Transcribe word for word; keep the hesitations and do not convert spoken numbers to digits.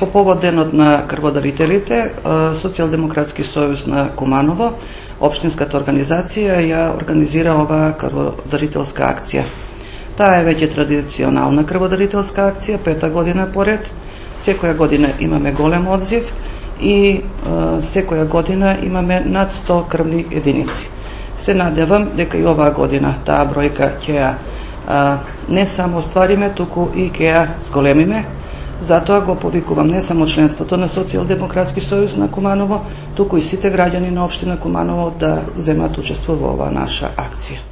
По повод денот на крводарителите, Социјалдемократски сојуз на Куманово, општинската организација ја организира оваа крводарителска акција. Таа е веќе традиционална крводарителска акција, пета година поред. Секоја година имаме голем одзив и секоја година имаме над сто крвни единици. Се надевам дека и оваа година таа бројка ќе ја не само оствариме, туку и ќе ја зголемиме. Затоа го повикувам не само членството на Социјалдемократски сојуз на Куманово, туку и сите граѓани на општина Куманово да земат учество во оваа наша акција.